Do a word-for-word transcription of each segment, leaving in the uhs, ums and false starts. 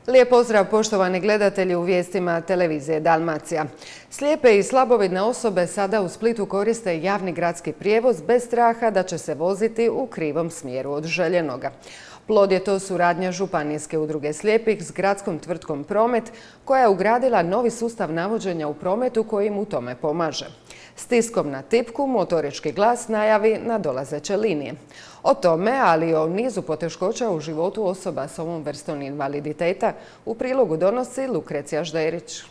Lijep pozdrav poštovani gledatelji u vijestima televizije Dalmacija. Slijepe i slabovidne osobe sada u Splitu koriste javni gradski prijevoz bez straha da će se voziti u krivom smjeru od željenoga. Plod je to suradnja Županijske udruge slijepih s gradskom tvrtkom Promet, koja je ugradila novi sustav navođenja u prometu koji im u tome pomaže. Stiskom na tipku motorički glas najavi nadolazeće linije. O tome, ali i o nizu poteškoća u životu osoba s ovom vrstom invaliditeta u prilogu donosi Lukrecija Žderić.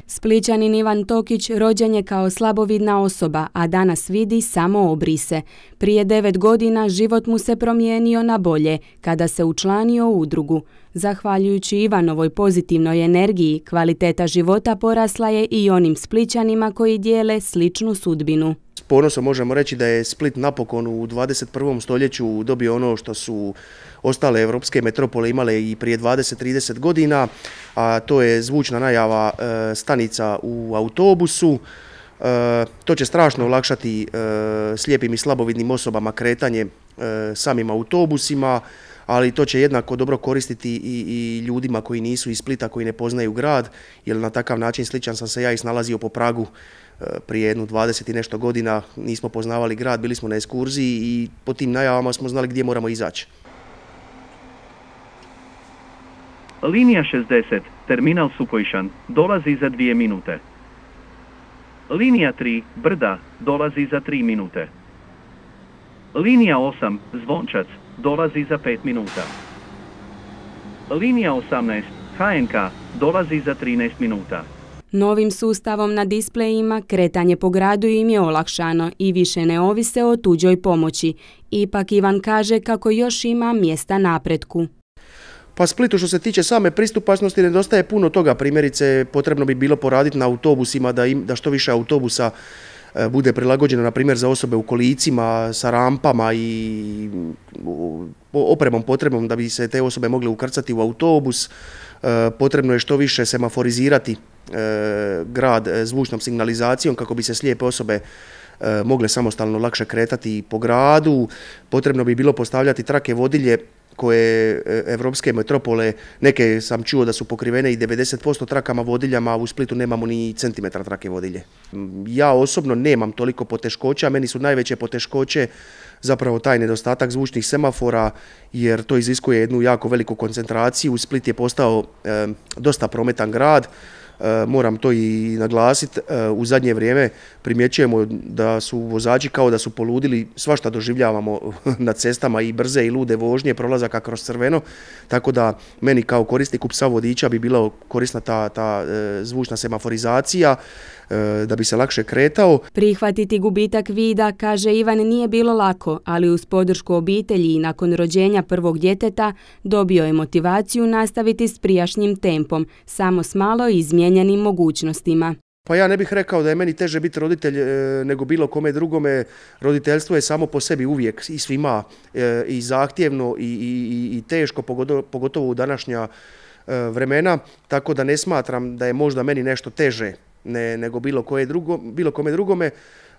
Splićanin Ivan Tokić rođen je kao slabovidna osoba, a danas vidi samo obrise. Prije devet godina život mu se promijenio na bolje kada se učlanio u udrugu. Zahvaljujući Ivanovoj pozitivnoj energiji, kvaliteta života porasla je i onim Splićanima koji dijele sličnu sudbinu. S ponosom možemo reći da je Split napokon u dvadeset prvom stoljeću dobio ono što su ostale evropske metropole imale i prije dvadeset do trideset godina, a to je zvučna najava e, stanica u autobusu. E, to će strašno olakšati e, slijepim i slabovidnim osobama kretanje e, samim autobusima, ali to će jednako dobro koristiti i, i ljudima koji nisu iz Splita, koji ne poznaju grad, jer na takav način sličan sam se ja i snalazio po pragu prije jednu dvadeset i nešto godina. Nismo poznavali grad, bili smo na ekskurziji i po tim najavama smo znali gdje moramo izaći. Linija šezdeset, terminal Supojšan, dolazi za dvije minute. Linija tri, Brda, dolazi za tri minute. Linija osam, Zvončac, dolazi za pet minuta. Linija osamnaest, ha en ka, dolazi za trinaest minuta. Novim sustavom na displejima kretanje po gradu im je olakšano i više ne ovise o tuđoj pomoći. Ipak Ivan kaže kako još ima mjesta napretku. Pa Splitu što se tiče same pristupačnosti nedostaje puno toga. Primjerice, potrebno bi bilo poraditi na autobusima, da, im, da što više autobusa e, bude prilagođeno, na primjer, za osobe u kolicima, sa rampama i opremom potrebnom da bi se te osobe mogle ukrcati u autobus. E, potrebno je što više semaforizirati e, grad zvučnom signalizacijom kako bi se slijepe osobe e, mogle samostalno lakše kretati po gradu. Potrebno bi bilo postavljati trake vodilje koje evropske metropole, neke sam čuo da su pokrivene i devedeset posto trakama vodiljama, a u Splitu nemamo ni centimetra trake vodilje. Ja osobno nemam toliko poteškoća, meni su najveće poteškoće zapravo taj nedostatak zvučnih semafora, jer to iziskuje jednu jako veliku koncentraciju. Split je postao e, dosta prometan grad. Moram to i naglasiti, u zadnje vrijeme primjećujemo da su vozači kao da su poludili, svašta doživljavamo na cestama, i brze i lude vožnje, prolazaka kroz crveno, tako da meni kao korisniku psa vodiča bi bila korisna ta, ta zvučna semaforizacija da bi se lakše kretao. Prihvatiti gubitak vida, kaže Ivan, nije bilo lako, ali uz podršku obitelji i nakon rođenja prvog djeteta dobio je motivaciju nastaviti s prijašnjim tempom, samo s malo izmijenjenim mogućnostima. Pa ja ne bih rekao da je meni teže biti roditelj e, nego bilo kome drugome. Roditeljstvo je samo po sebi uvijek i svima e, i zahtjevno i, i, i teško, pogotovo, pogotovo u današnja e, vremena, tako da ne smatram da je možda meni nešto teže ne, nego bilo, koje drugo, bilo kome drugome.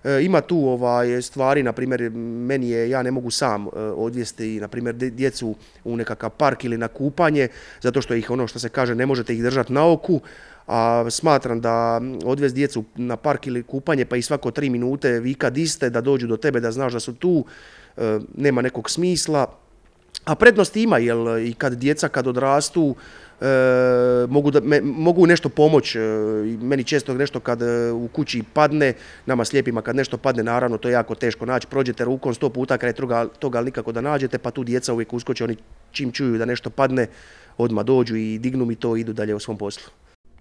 E, ima tu ovaj, stvari, na primjer, meni je, ja ne mogu sam e, odvesti, na primjer, djecu u nekakav park ili na kupanje, zato što ih, ono što se kaže, ne možete ih držati na oku. A smatram da odvesti djecu na park ili kupanje pa i svako tri minute vika di ste, da dođu do tebe, da znaš da su tu, e, nema nekog smisla. A prednosti ima, jer i kad djeca kad odrastu e, mogu, da, me, mogu nešto pomoći. E, meni često nešto kad e, u kući padne, nama slijepima kad nešto padne, naravno to je jako teško naći. Prođete rukom sto puta kraj toga, toga ali nikako da nađete, pa tu djeca uvijek uskoče, oni čim čuju da nešto padne, odmah dođu i dignu mi to i idu dalje u svom poslu.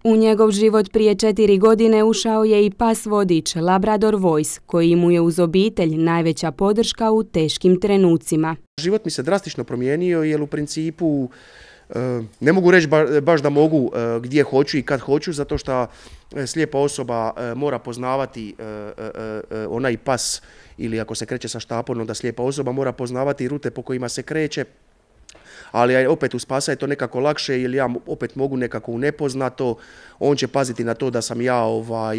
U njegov život prije četiri godine ušao je i pas vodič Labrador Voice, koji mu je uz obitelj najveća podrška u teškim trenucima. Život mi se drastično promijenio, jer u principu ne mogu reći baš da mogu gdje hoću i kad hoću, zato što slijepa osoba mora poznavati onaj pas, ili ako se kreće sa štapom, onda slijepa osoba mora poznavati rute po kojima se kreće. Ali opet uz pasa je to nekako lakše, jer ja opet mogu nekako u nepoznato, on će paziti na to da sam ja ovaj,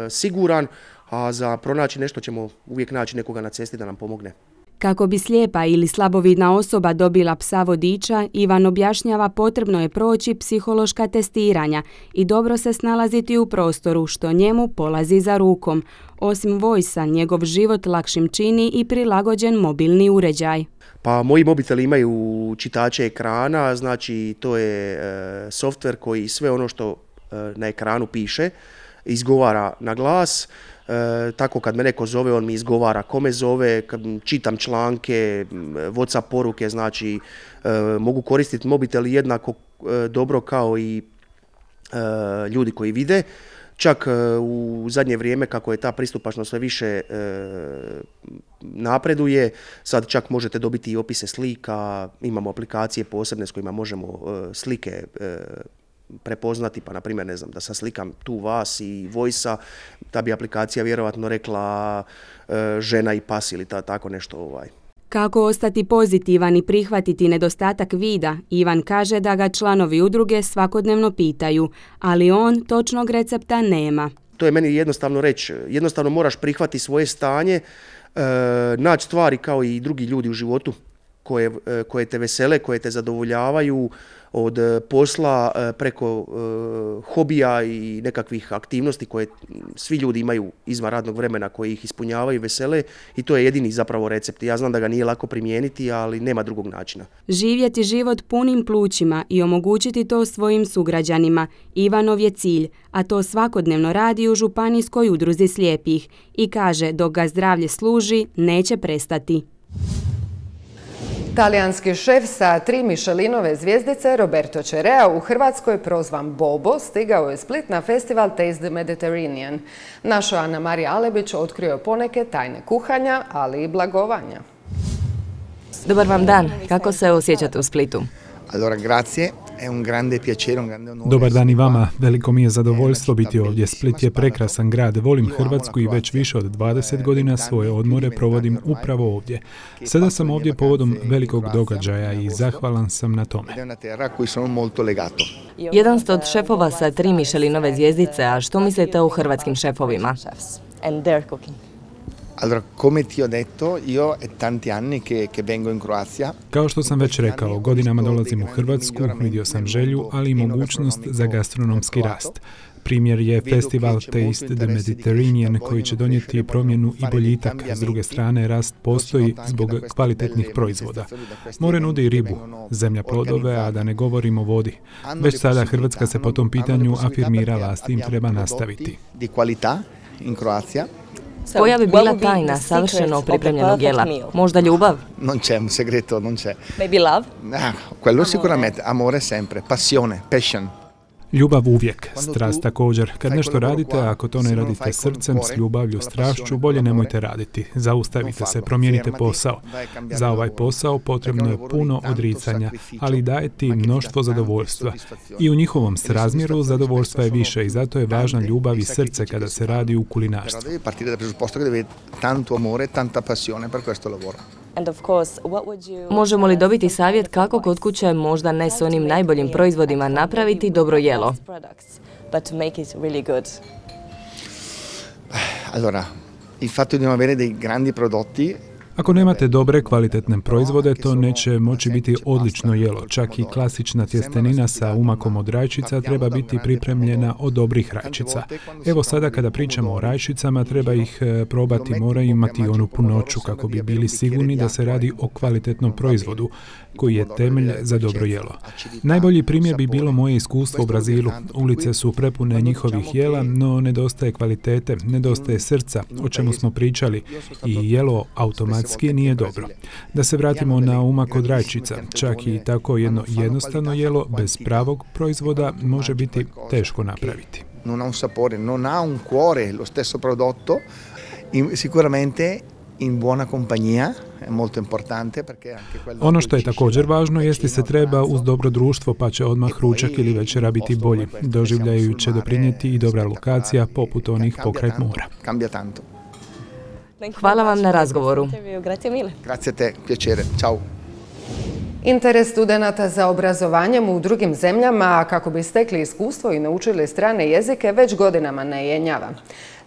e, siguran, a za pronaći nešto ćemo uvijek naći nekoga na cesti da nam pomogne. Kako bi slijepa ili slabovidna osoba dobila psa vodiča, Ivan objašnjava potrebno je proći psihološka testiranja i dobro se snalaziti u prostoru, što njemu polazi za rukom. Osim Voice-a, njegov život lakšim čini i prilagođen mobilni uređaj. Pa moji mobiteli imaju čitače ekrana, znači to je e, softver koji sve ono što e, na ekranu piše izgovara na glas. E, tako kad me neko zove, on mi izgovara ko me zove, kad čitam članke, WhatsApp poruke, znači e, mogu koristiti mobitel jednako e, dobro kao i e, ljudi koji vide. Čak e, u zadnje vrijeme, kako je ta pristupačnost sve više e, napreduje, sad čak možete dobiti i opise slika, imamo aplikacije posebne s kojima možemo e, slike e, prepoznati, pa na primjer, ne znam, da sad slikam tu vas i Voice-a, ta bi aplikacija vjerojatno rekla e, žena i pas ili ta, tako nešto. Ovaj. Kako ostati pozitivan i prihvatiti nedostatak vida, Ivan kaže da ga članovi udruge svakodnevno pitaju, ali on točnog recepta nema. To je meni jednostavno reći, jednostavno moraš prihvatiti svoje stanje, e, naći stvari kao i drugi ljudi u životu koje, e, koje te vesele, koje te zadovoljavaju, od posla preko uh, hobija i nekakvih aktivnosti koje svi ljudi imaju izvan radnog vremena, koji ih ispunjavaju, vesele, i to je jedini zapravo recept. Ja znam da ga nije lako primijeniti, ali nema drugog načina. Živjeti život punim plućima i omogućiti to svojim sugrađanima Ivanov je cilj, a to svakodnevno radi u Županijskoj udruzi slijepih i kaže dok ga zdravlje služi, neće prestati. Talijanski šef sa tri Michelinove zvjezdice Roberto Cerea, u Hrvatskoj prozvan Bobo, stigao je Split na festival Taste the Mediterranean. Naša Ana Marija Alebić otkrio je poneke tajne kuhanja, ali i blagovanja. Dobar vam dan, kako se osjećate u Splitu? Allora, grazie. Dobar dan i vama, veliko mi je zadovoljstvo biti ovdje. Split je prekrasan grad, volim Hrvatsku i već više od dvadeset godina svoje odmore provodim upravo ovdje. Sada sam ovdje povodom velikog događaja i zahvalan sam na tome. Jedan ste od šefova sa tri Michelinove zvjezdice, a što mislite o hrvatskim šefovima? Allora, come ti ho detto, io è tanti anni che, che vengo in Croazia. Kao što sam već rekao, godinama dolazim u Hrvatsku, vidio sam želju, ali i mogućnost za gastronomski rast. Primjer je festival Taste the Mediterranean koji će donijeti promjenu i boljitak. S druge strane, rast postoji zbog kvalitetnih proizvoda. More nudi ribu, zemlja plodove, a da ne govorimo o vodi. Već sada Hrvatska se po tom pitanju afirmirala, s tim treba nastaviti. Di qualità in Croazia. Koja bi bila tajna savršeno pripremljenog jela? Možda ljubav? Non c'è un segreto, non c'è. Maybe love? Ah, quello sicuramente, amore sempre, passione, passion. Ljubav uvijek, strast također. Kad nešto radite, ako to ne radite srcem, s ljubavlju, strašću, bolje nemojte raditi. Zaustavite se, promijenite posao. Za ovaj posao potrebno je puno odricanja, ali daje ti mnoštvo zadovoljstva. I u njihovom srazmjeru zadovoljstva je više i zato je važna ljubav i srce kada se radi u kulinarstvu. Možemo li dobiti savjet kako kod kuće, možda ne s onim najboljim proizvodima, napraviti dobro jelo? Allora, il fatto di non avere dei grandi prodotti. Ako nemate dobre, kvalitetne proizvode, to neće moći biti odlično jelo. Čak i klasična tjestenina sa umakom od rajčica treba biti pripremljena od dobrih rajčica. Evo sada kada pričamo o rajčicama, treba ih probati, moraju imati onu punoću kako bi bili sigurni da se radi o kvalitetnom proizvodu koji je temelj za dobro jelo. Najbolji primjer bi bilo moje iskustvo u Brazilu. Ulice su prepune njihovih jela, no nedostaje kvalitete, nedostaje srca, o čemu smo pričali, i jelo automatski nije dobro. Da se vratimo na umak od rajčica, čak i tako jedno jednostavno jelo bez pravog proizvoda može biti teško napraviti. Non ha un sapore, non ha un cuore lo stesso prodotto, sicuramente in buona compagnia. Ono što je također važno jeste se treba uz dobro društvo, pa će odmah ručak ili večera biti bolji. Doživljaju će doprinijeti i dobra lokacija poput onih pokraj mora. Hvala vam na razgovoru. Grazie te, piacere. Ciao. Interes studenata za obrazovanjem u drugim zemljama, kako bi stekli iskustvo i naučili strane jezike, već godinama ne jenjava.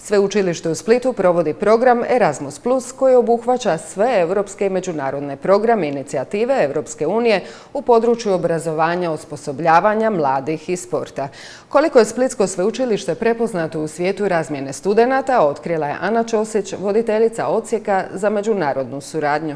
Sveučilište u Splitu provodi program Erasmus plus koji obuhvaća sve europske i međunarodne programe i inicijative Europske unije u području obrazovanja, osposobljavanja mladih i sporta. Koliko je Splitsko sveučilište prepoznato u svijetu razmjene studenata, otkrila je Ana Ćosić, voditeljica odsjeka za međunarodnu suradnju.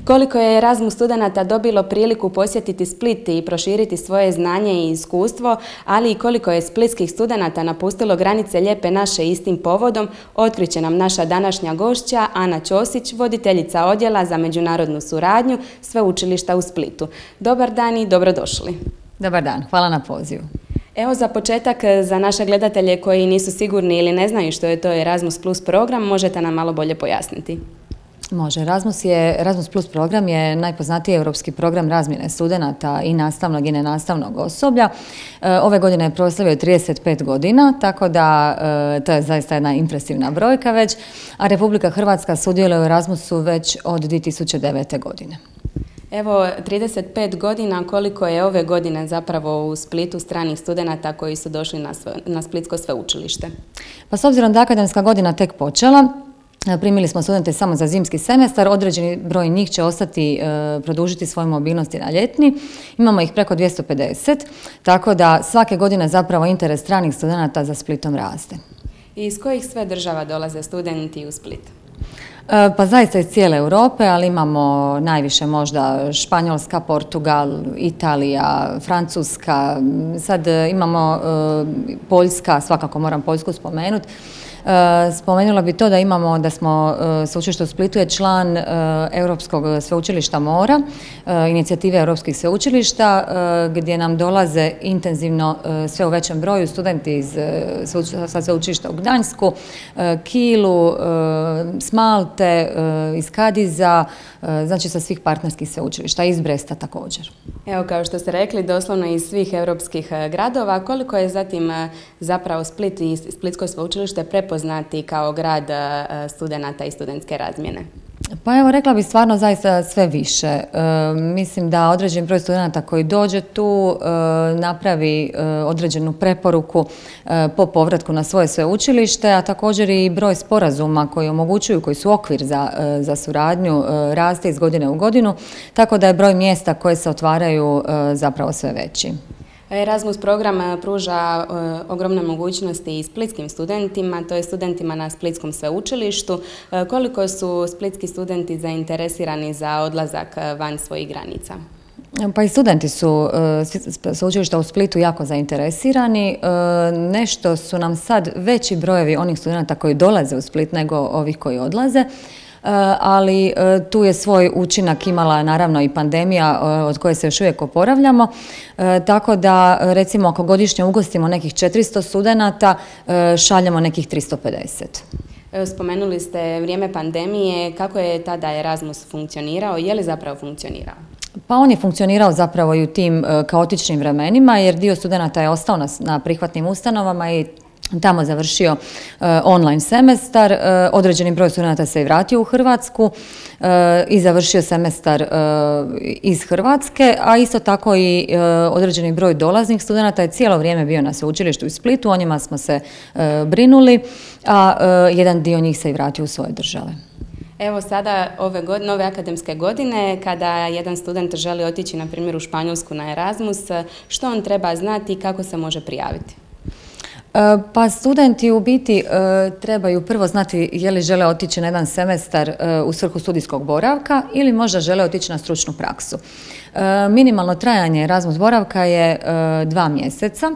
Koliko je Erasmus studenata dobilo priliku posjetiti Split i proširiti svoje znanje i iskustvo, ali i koliko je splitskih studenata napustilo granice Lijepe naše istim povodom, otkriće nam naša današnja gošća Ana Ćosić, voditeljica odjela za međunarodnu suradnju Sveučilišta u Splitu. Dobar dan i dobrodošli. Dobar dan, hvala na pozivu. Evo za početak, za naše gledatelje koji nisu sigurni ili ne znaju što je to Erasmus plus program, možete nam malo bolje pojasniti? Može. Erasmus, je, Erasmus plus program je najpoznatiji europski program razmjene studenata i nastavnog i nenastavnog osoblja. Ove godine je proslavio trideset pet godina, tako da to je zaista jedna impresivna brojka već, a Republika Hrvatska sudjeluje u Erasmusu već od dvije tisuće devete. godine. Evo, trideset pet godina, koliko je ove godine zapravo u Splitu stranih studenata koji su došli na, sve, na Splitsko sveučilište? Pa s obzirom da akademska godina tek počela, primili smo studente samo za zimski semestar, određeni broj njih će ostati, e, produžiti svoju mobilnost na ljetni. Imamo ih preko dvjesto pedeset, tako da svake godine zapravo interes stranih studenata za Splitom raste. I iz kojih sve država dolaze studenti u Split? E, pa zaista iz cijele Europe, ali imamo najviše možda Španjolska, Portugal, Italija, Francuska, sad imamo e, Poljska, svakako moram Poljsku spomenuti. Spomenula bi to da imamo, da smo sveučilište u Splitu je član Europskog sveučilišta mora, inicijative europskih sveučilišta, gdje nam dolaze intenzivno sve u većem broju studenti iz sa sveučilišta u Gdansku, Kilu, s Malte, iz Kadiza, znači sa svih partnerskih sveučilišta, iz Bresta također. Evo, kao što ste rekli, doslovno iz svih europskih gradova, koliko je zatim zapravo Split i Splitsko sveučilište prepoznati kao grad studenata i studentske razmjene? Pa evo, rekla bih stvarno zaista sve više. E, mislim da određen broj studenta koji dođe tu e, napravi e, određenu preporuku e, po povratku na svoje sveučilište, a također i broj sporazuma koji omogućuju, koji su okvir za, e, za suradnju, e, raste iz godine u godinu, tako da je broj mjesta koje se otvaraju e, zapravo sve veći. Erasmus program pruža e, ogromne mogućnosti i splitskim studentima, to je studentima na Splitskom sveučilištu. E, koliko su splitski studenti zainteresirani za odlazak van svojih granica? Pa i studenti su e, sveučilišta u Splitu jako zainteresirani. E, nešto su nam sad veći brojevi onih studenta koji dolaze u Split nego ovih koji odlaze. Ali tu je svoj učinak imala naravno i pandemija od koje se još uvijek oporavljamo, tako da recimo ako godišnje ugostimo nekih četiristo studenata, šaljemo nekih tristo pedeset. Spomenuli ste vrijeme pandemije, kako je tada Erasmus funkcionirao, je li zapravo funkcionirao? Pa on je funkcionirao zapravo i u tim kaotičnim vremenima, jer dio studenata je ostao na, na prihvatnim ustanovama i tamo završio uh, online semestar, uh, određeni broj studenata se i vratio u Hrvatsku uh, i završio semestar uh, iz Hrvatske, a isto tako i uh, određeni broj dolaznih studenata je cijelo vrijeme bio na sveučilištu u Splitu, o njima smo se uh, brinuli, a uh, jedan dio njih se i vratio u svoje države. Evo sada ove godine, nove akademske godine, kada jedan student želi otići na primjer u Španjolsku na Erasmus, što on treba znati i kako se može prijaviti? Pa studenti u biti trebaju prvo znati je li žele otići na jedan semestar u svrhu studijskog boravka ili možda žele otići na stručnu praksu. Minimalno trajanje Erasmus boravka je dva mjeseca,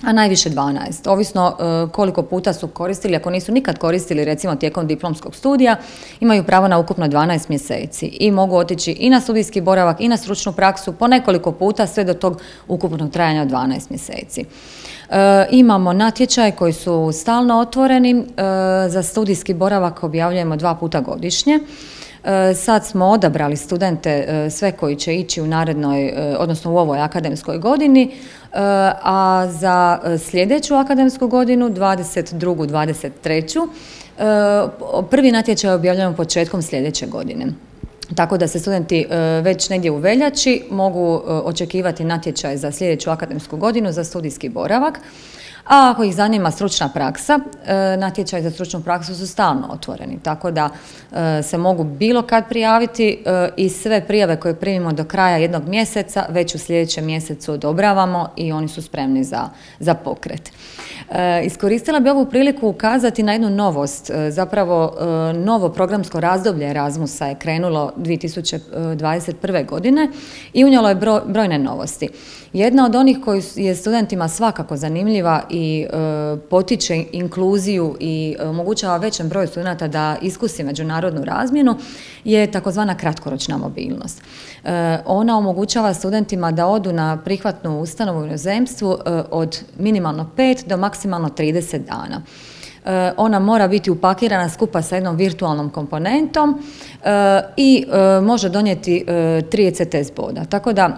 a najviše dvanaest. Ovisno koliko puta su koristili, ako nisu nikad koristili recimo tijekom diplomskog studija, imaju pravo na ukupno dvanaest mjeseci i mogu otići i na studijski boravak i na stručnu praksu po nekoliko puta sve do tog ukupnog trajanja od dvanaest mjeseci. E, imamo natječaje koji su stalno otvoreni, e, za studijski boravak objavljujemo dva puta godišnje. E, sad smo odabrali studente e, sve koji će ići u narednoj, e, odnosno u ovoj akademskoj godini, e, a za sljedeću akademsku godinu, dvadeset drugu dvadeset treću, e, prvi natječaj objavljujemo početkom sljedeće godine. Tako da se studenti već negdje u veljači mogu očekivati natječaj za sljedeću akademsku godinu za studijski boravak. a ako ih zanima stručna praksa, natječaj za stručnu praksu su stalno otvoreni, tako da se mogu bilo kad prijaviti i sve prijave koje primimo do kraja jednog mjeseca već u sljedećem mjesecu odobravamo i oni su spremni za, za pokret. Iskoristila bi ovu priliku ukazati na jednu novost, zapravo novo programsko razdoblje Erasmusa je krenulo dvije tisuće dvadeset prve. godine i unijelo je brojne novosti. Jedna od onih koji je studentima svakako zanimljiva i e, potiče inkluziju i omogućava većem broju studenta da iskusi međunarodnu razmjenu je takozvana kratkoročna mobilnost. E, ona omogućava studentima da odu na prihvatnu ustanovu u inozemstvu e, od minimalno pet do maksimalno trideset dana. Ona mora biti upakirana skupa sa jednom virtualnom komponentom i može donijeti tri E C T S boda. Tako da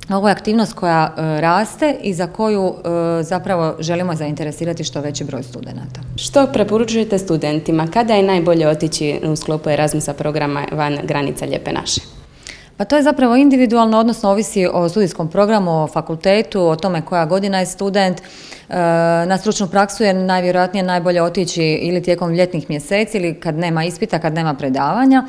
ovo je aktivnost koja raste i za koju zapravo želimo zainteresirati što veći broj studenata. Što preporučujete studentima? Kada je najbolje otići u sklopu Erasmusa programa van granica Lijepe naše? Pa to je zapravo individualno, odnosno ovisi o studijskom programu, o fakultetu, o tome koja godina je student. Na stručnu praksu je najvjerojatnije najbolje otići ili tijekom ljetnih mjeseci ili kad nema ispita, kad nema predavanja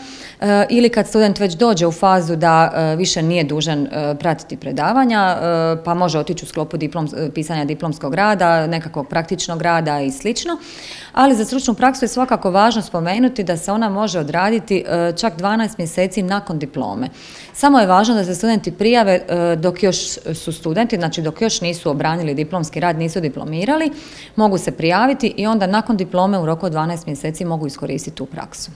ili kad student već dođe u fazu da više nije dužan pratiti predavanja pa može otići u sklopu diplom, pisanja diplomskog rada, nekakvog praktičnog rada i slično. Ali za stručnu praksu je svakako važno spomenuti da se ona može odraditi čak dvanaest mjeseci nakon diplome. Samo je važno da se studenti prijave dok još su studenti, znači dok još nisu obranili diplomski rad, nisu diplomirali, mogu se prijaviti i onda nakon diplome u roku od dvanaest mjeseci mogu iskoristiti tu praksu.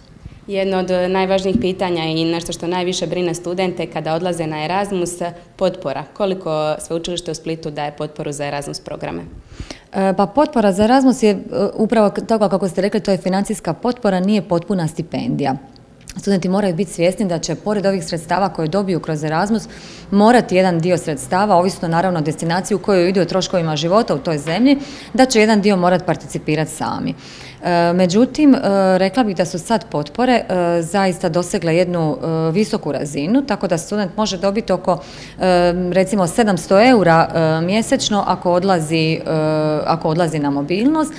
Jedno od najvažnijih pitanja i nešto što najviše brine studente kada odlaze na Erasmus, potpora. Koliko sveučilište u Splitu daje potporu za Erasmus programe? Pa potpora za Erasmus je upravo tako kako ste rekli, to je financijska potpora, nije potpuna stipendija. Studenti moraju biti svjesni da će pored ovih sredstava koje dobiju kroz Erasmus morati jedan dio sredstava, ovisno naravno o destinaciji u kojoj idu o troškovima života u toj zemlji, da će jedan dio morati participirati sami. Međutim, rekla bih da su sad potpore zaista dosegle jednu visoku razinu, tako da student može dobiti oko recimo sedamsto eura mjesečno ako odlazi, ako odlazi na mobilnost,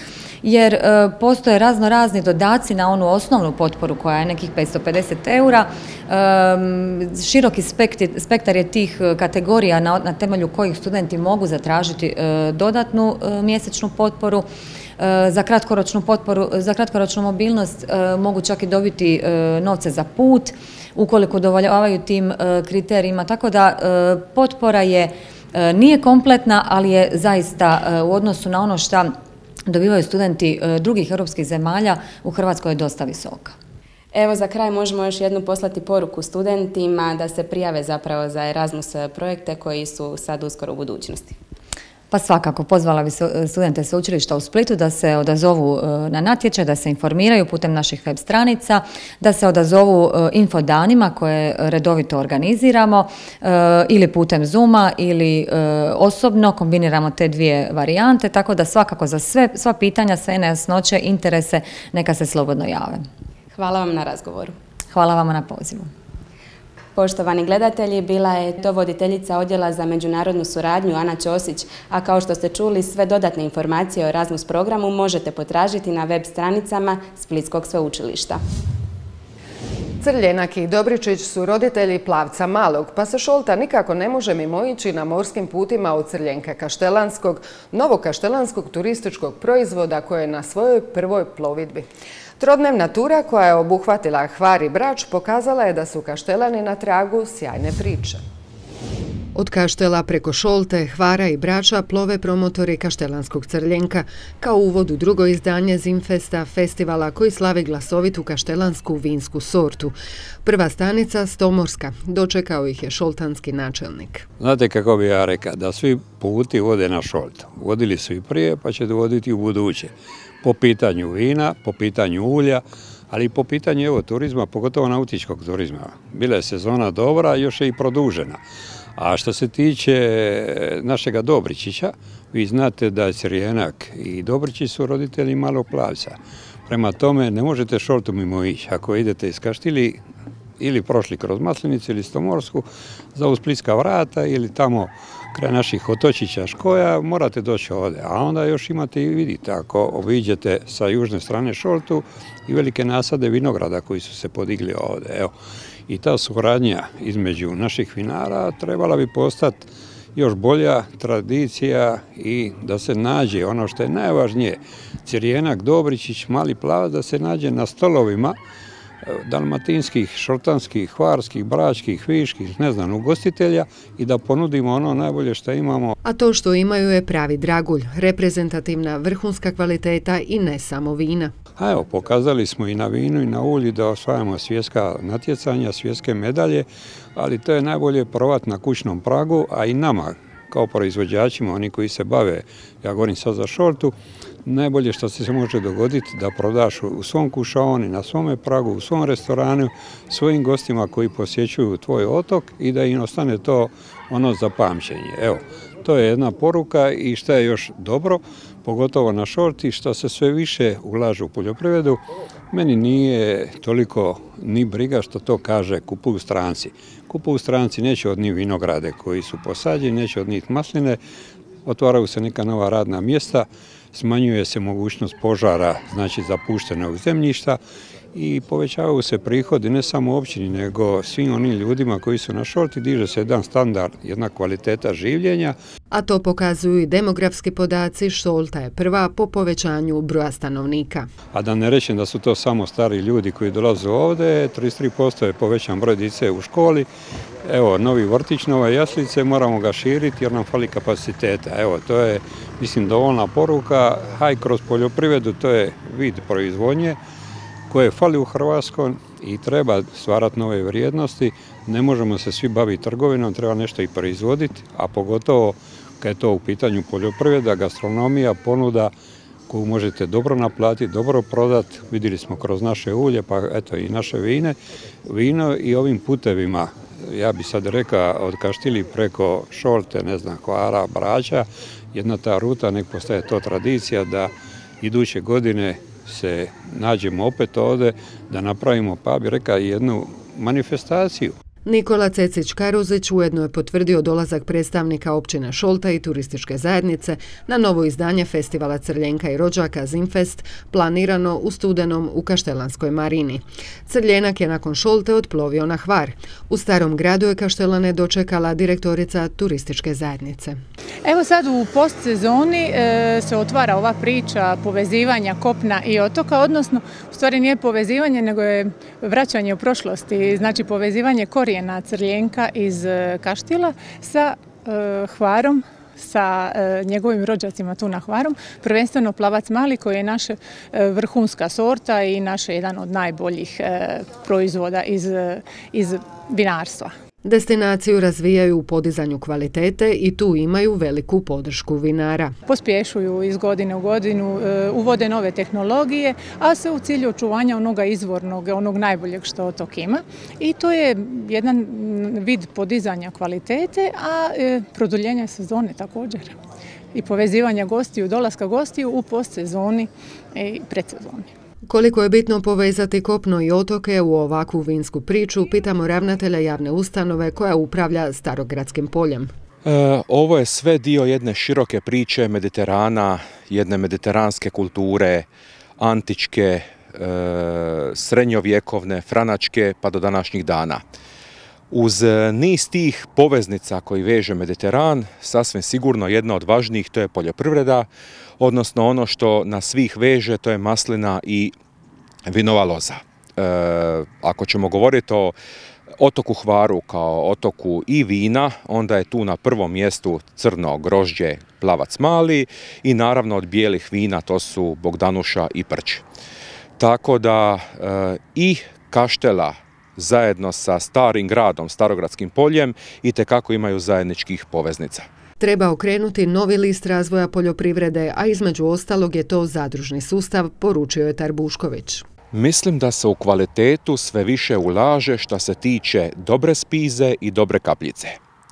jer e, postoje razno razni dodaci na onu osnovnu potporu koja je nekih petsto pedeset eura. E, široki spektar, spektar je tih kategorija na, na temelju kojih studenti mogu zatražiti e, dodatnu e, mjesečnu potporu. E, za kratkoročnu potporu, za kratkoročnu mobilnost e, mogu čak i dobiti e, novce za put ukoliko udovoljavaju tim e, kriterijima. Tako da e, potpora je, e, nije kompletna, ali je zaista e, u odnosu na ono što dobivaju studenti drugih europskih zemalja u Hrvatskoj je dosta visoka. Evo za kraj možemo još jednu poslati poruku studentima da se prijave zapravo za Erasmus projekte koji su sad uskoro u budućnosti. Pa svakako, pozvala bi studente sveučilišta u Splitu da se odazovu na natječaj, da se informiraju putem naših web stranica, da se odazovu infodanima koje redovito organiziramo ili putem Zooma ili osobno, kombiniramo te dvije varijante, tako da svakako za sve, sva pitanja, sve nejasnoće, interese, neka se slobodno jave. Hvala vam na razgovoru. Hvala vam na pozivu. Poštovani gledatelji, bila je to voditeljica Odjela za međunarodnu suradnju Ana Ćosić, a kao što ste čuli, sve dodatne informacije o Erasmus programu možete potražiti na web stranicama Splitskog sveučilišta. Crljenak i Dobričić su roditelji Plavca Malog, pa se Šolta nikako ne može mimoići na morskim putima od Crljenka Kaštelanskog, novokaštelanskog turističkog proizvoda koje je na svojoj prvoj plovidbi. Trodnevna tura koja je obuhvatila Hvar i Brač pokazala je da su Kaštelani na tragu sjajne priče. Od Kaštela preko Šolte, Hvara i Brača plove promotori Kaštelanskog Crljenka kao uvod u drugo izdanje Zimfesta, festivala koji slavi glasovitu kaštelansku vinsku sortu. Prva stanica Stomorska, dočekao ih je šoltanski načelnik. Znate kako bi ja rekao, da svi puti vode na Šoltu. Vodili su i prije, pa će voditi u buduće. Po pitanju vina, po pitanju ulja, ali i po pitanju evo, turizma, pogotovo nautičkog turizma. Bila je sezona dobra, još je i produžena. A što se tiče našega Dobričića, vi znate da je Crljenak i Dobričić su roditelji Malog Plavca. Prema tome ne možete Šoltu mimo ići. Ako idete iz Kaštili, ili prošli kroz Maslenicu ili Stomorsku za u Splitska vrata ili tamo kraj naših otočića Škoja, morate doći ovdje. A onda još imate i vidite, ako obiđete sa južne strane Šoltu i velike nasade vinograda koji su se podigli ovdje. Evo. I ta suradnja između naših vinara trebala bi postati još bolja tradicija i da se nađe ono što je najvažnije, Cirjenak, Dobričić, Mali Plavac, da se nađe na stolovima dalmatinskih, šoltanskih, hvarskih, bračkih, viških, ne znam, ugostitelja i da ponudimo ono najbolje što imamo. A to što imaju je pravi dragulj, reprezentativna vrhunska kvaliteta i ne samo vina. A evo, pokazali smo i na vinu i na ulju da osvajamo svjetska natjecanja, svjetske medalje, ali to je najbolje probati na kućnom pragu, a i nama kao proizvođačima, oni koji se bave, ja govorim sad za Šoltu, najbolje što se može dogoditi da prodaš u svom kušaoni, na svome pragu, u svom restoranu, svojim gostima koji posjećuju tvoj otok i da im ostane to ono za pamćenje. Evo, to je jedna poruka i što je još dobro, pogotovo na Šolti, što se sve više ulažu u poljoprivredu. Meni nije toliko ni briga što to kaže kupuju stranci. Kupuju stranci neće od njih vinograde koji su posađeni, neće od njih masline, otvaraju se neka nova radna mjesta, smanjuje se mogućnost požara, znači zapuštenog zemljišta i povećavaju se prihodi ne samo općini, nego svim onim ljudima koji su na Šolti, diže se jedan standard, jedna kvaliteta življenja. A to pokazuju i demografski podaci, Šolta je prva po povećanju broja stanovnika. A da ne rečem da su to samo stari ljudi koji dolaze ovdje, trideset tri posto je povećan broj djece u školi. Evo, novi vrtić, nove jaslice, moramo ga širiti jer nam fali kapaciteta. Evo, to je, mislim, dovoljna poruka, haj kroz poljoprivredu, to je vid proizvodnje koje fali u Hrvatskoj i treba stvarati nove vrijednosti. Ne možemo se svi baviti trgovinom, treba nešto i proizvoditi, a pogotovo kad je to u pitanju poljoprivreda, gastronomija, ponuda koju možete dobro naplatiti, dobro prodati. Vidjeli smo kroz naše ulje, pa eto i naše vine, vino i ovim putevima. Ja bi sad rekao od Kaštili preko Šolte, ne znam, Hvara, Brača, jedna ta ruta, nek postaje to tradicija da iduće godine se nađemo opet ovdje, da napravimo, pa bi rekao, jednu manifestaciju. Nikola Cecić-Karuzić ujedno je potvrdio dolazak predstavnika općine Šolta i turističke zajednice na novo izdanje festivala Crljenka i rođaka Zimfest, planirano u studenom u Kaštelanskoj marini. Crljenak je nakon Šolte otplovio na Hvar. U Starom gradu je Kaštelane dočekala direktorica turističke zajednice. Evo sad u postsezoni e, se otvara ova priča povezivanja kopna i otoka, odnosno u stvari nije povezivanje, nego je vraćanje u prošlosti, znači povezivanje korijena Crljenka iz Kaštila sa e, Hvarom, sa e, njegovim rođacima tu na Hvarom, prvenstveno Plavac Mali koji je naša e, vrhunska sorta i naš jedan od najboljih e, proizvoda iz, iz vinarstva. Destinaciju razvijaju u podizanju kvalitete i tu imaju veliku podršku vinara. Pospješuju iz godine u godinu, uvode nove tehnologije, a sve u cilju očuvanja onoga izvornog, onog najboljeg što otok ima. I to je jedan vid podizanja kvalitete, a produljenja sezone također. I povezivanja gostiju, dolaska gostiju u postsezoni i predsezoni. Koliko je bitno povezati kopno i otoke u ovakvu vinsku priču, pitamo ravnatelja javne ustanove koja upravlja Starogradskim poljem. E, ovo je sve dio jedne široke priče Mediterana, jedne mediteranske kulture, antičke, e, srednjovjekovne, franačke pa do današnjih dana. Uz niz tih poveznica koji veže Mediteran, sasvim sigurno jedna od važnijih to je poljoprivreda, odnosno ono što nas svih veže to je maslina i vinova loza. E, ako ćemo govoriti o otoku Hvaru kao otoku i vina, onda je tu na prvom mjestu crno grožđe Plavac Mali i naravno od bijelih vina to su Bogdanuša i Prć. Tako da e, i Kaštela zajedno sa Starim gradom, Starogradskim poljem, itekako imaju zajedničkih poveznica. Treba okrenuti novi list razvoja poljoprivrede, a između ostalog je to zadružni sustav, poručio je Tarbušković. Mislim da se u kvalitetu sve više ulaže što se tiče dobre spize i dobre kapljice.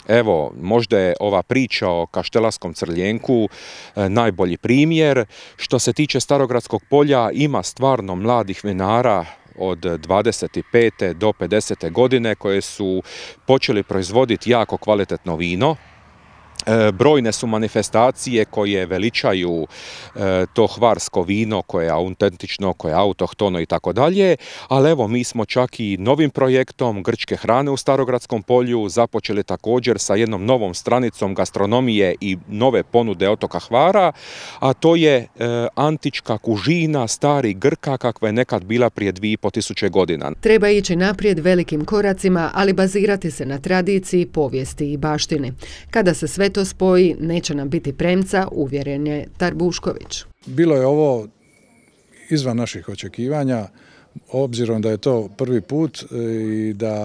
Evo, možda je ova priča o kaštelanskom crljenku e, najbolji primjer. Što se tiče Starogradskog polja, ima stvarno mladih vinara od dvadeset pete do pedesete godine koje su počeli proizvoditi jako kvalitetno vino. Brojne su manifestacije koje veličaju to hvarsko vino koje je autentično, koje je autohtono i tako dalje, ali evo mi smo čak i novim projektom grčke hrane u Starogradskom polju započeli također sa jednom novom stranicom gastronomije i nove ponude otoka Hvara, a to je antička kužina starih Grka kakva je nekad bila prije dvije i pol tisuće godina. Treba ići naprijed velikim koracima, ali bazirati se na tradiciji, povijesti i baštini. Kada se sve to spoji, neće nam biti premca, uvjeren je Tarbušković. Bilo je ovo izvan naših očekivanja, obzirom da je to prvi put i da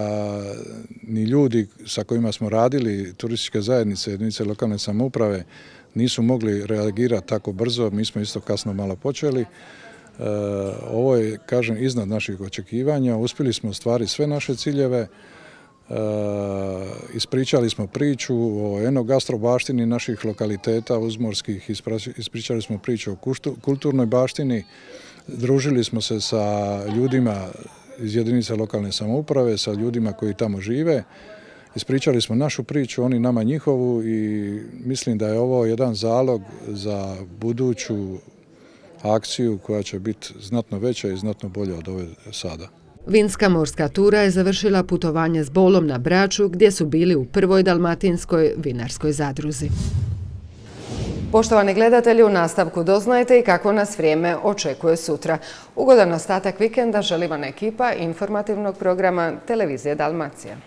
ni ljudi sa kojima smo radili, turističke zajednice, jedinice lokalne samouprave, nisu mogli reagirati tako brzo, mi smo isto kasno malo počeli. Ovo je, kažem, iznad naših očekivanja, uspjeli smo ostvariti sve naše ciljeve. Uh, ispričali smo priču o enogastro baštini naših lokaliteta uzmorskih, ispričali smo priču o kulturnoj baštini, družili smo se sa ljudima iz jedinica lokalne samouprave, sa ljudima koji tamo žive, ispričali smo našu priču, oni nama njihovu i mislim da je ovo jedan zalog za buduću akciju koja će biti znatno veća i znatno bolja od ove sada. Vinska morska tura je završila putovanje s Bolom na Braču gdje su bili u prvoj dalmatinskoj vinarskoj zadruzi. Poštovani gledatelji, u nastavku doznajete i kako nas vrijeme očekuje sutra. Ugodan ostatak vikenda želi vam ekipa informativnog programa Televizije Dalmacija.